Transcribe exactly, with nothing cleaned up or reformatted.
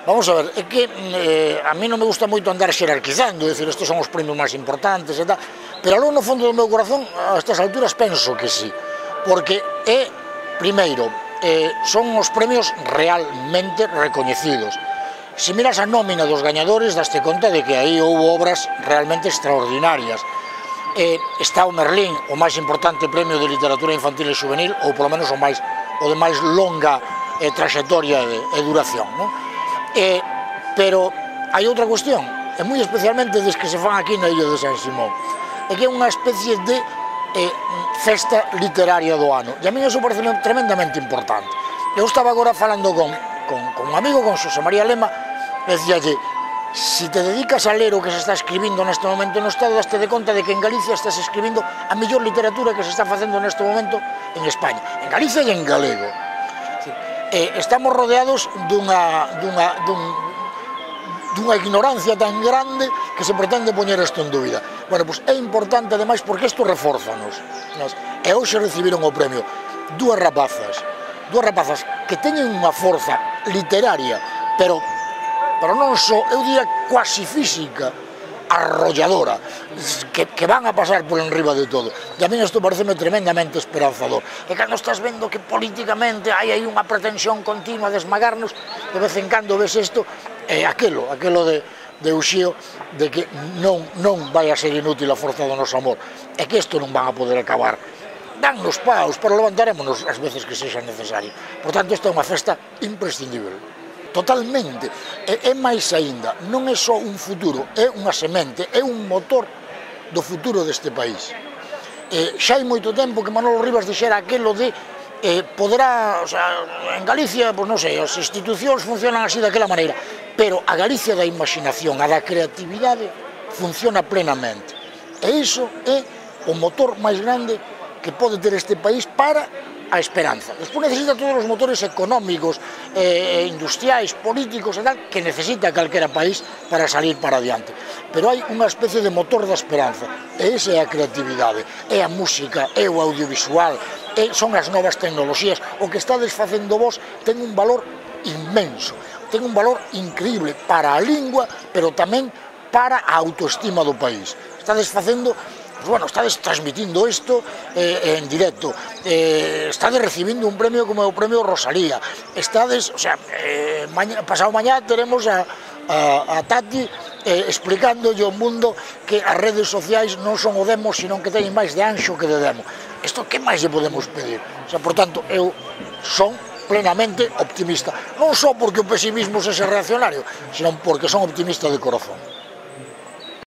Vamos a ver, é que eh, a mí non me gusta moito andar xerarquizando, é dicir, estes son os premios máis importantes e tal, pero algo no fondo do meu corazón, a estas alturas, penso que sí, porque é, primeiro, eh, son os premios realmente recoñecidos. Se miras a nómina dos gañadores, daste conta de que aí houve obras realmente extraordinarias. Eh, está o Merlín, o máis importante premio de literatura infantil e juvenil, ou polo menos o, máis, o de máis longa eh, traxectoria e duración, non? Eh, pero hai outra cuestión, e moi especialmente des que se fan aquí na Illa de San Simón, é que é unha especie de eh, festa literaria do ano, e a mí iso parece tremendamente importante. Eu estaba agora falando con, con, con un amigo, con Xosé María Lema, e dicíalle, si te dedicas a ler o que se está escribindo neste momento no Estado, daste de conta de que en Galicia estás escribindo a mellor literatura que se está facendo neste momento en España, en Galicia e en galego. Eh, estamos rodeados dunha, dunha, dun, dunha ignorancia tan grande que se pretende poñer isto en dúbida. Bueno, pois é importante ademais porque isto refórzanos. E hoxe recibiron o premio dúas rapazas, dúas rapazas que teñen unha forza literaria, pero, pero non só, eu diría quasi física, arrolladora, que, que van a pasar por enriba de todo. E a mí isto pareceme tremendamente esperanzador. E cando estás vendo que políticamente hai aí unha pretensión continua de esmagarnos, de vez en cando ves isto, é aquelo, aquelo de, de Uxío, de que non, non vai a ser inútil a forza do noso amor, e que isto non van a poder acabar. Dannos paus, pero levantarémonos as veces que sexa necesario. Por tanto, esta é unha festa imprescindible. Totalmente, e, e máis aínda, non é só un futuro, é unha semente, é un motor do futuro deste país. Eh, xa hai moito tempo que Manolo Rivas dixera aquelo de eh, poderá, o sea, en Galicia, pois non sei, as institucións funcionan así daquela maneira, pero a Galicia da imaginación, a da creatividade, funciona plenamente. E iso é o motor máis grande que pode ter este país para a esperanza. Despois necesita todos os motores económicos, eh, industriais, políticos e tal, que necesita calquera país para salir para adiante. Pero hai unha especie de motor da esperanza, e esa é a creatividade, é a música, é o audiovisual, é, son as novas tecnoloxías. O que estades facendo vos ten un valor inmenso, ten un valor increíble para a lingua, pero tamén para a autoestima do país. Estades facendo... Pues bueno, estades transmitindo isto eh, en directo, eh, estades recibindo un premio como o premio Rosalía, estades, o sea, eh, maña, pasado mañá teremos a, a, a Tati eh, explicándolle ao mundo que as redes sociais non son o demo, sino que teñen máis de anxo que de demo. Isto que máis lle podemos pedir? O sea, por tanto, eu son plenamente optimista, non só porque o pesimismo sexa reaccionario, sino porque son optimista de corazón.